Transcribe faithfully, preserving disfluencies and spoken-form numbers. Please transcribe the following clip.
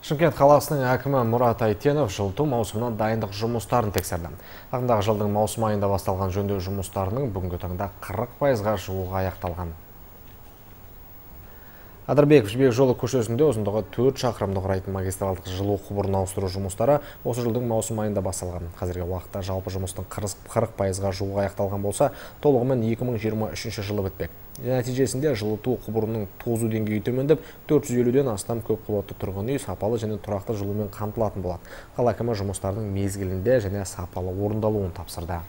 Шымкент қаласының әкімі Мұрат Айтенов жылыту маусымынан дайындық жұмыстарын тексерді. Ағымдағы жылдың маусым айында басталған жөндеу жұмыстарының бүгінгі таңда қырық пайызға жуығы аяқталған. Адырбеков жібек жолы көшесінде ұзындығы төрт шақырымды құрайтын магистралдық жылу құбырын ауыстыру жұмыстары осы жылдың маусым айында басталған. Қазіргі уақытта жалпы жұмыстың қырық пайызға жуығы аяқталған болса, толығымен екі мың жиырма үшінші жылы бітпек. Нәтижесінде жылыту құбырының тозу деңгейі төмендеп, төрт жүз елуден астам көпқабатты тұрғын үй сапалы және тұрақты жылумен қамтылатын болады. Қала әкімі жұмыстардың мезгілінде және сапалы орындалуын тапсырды.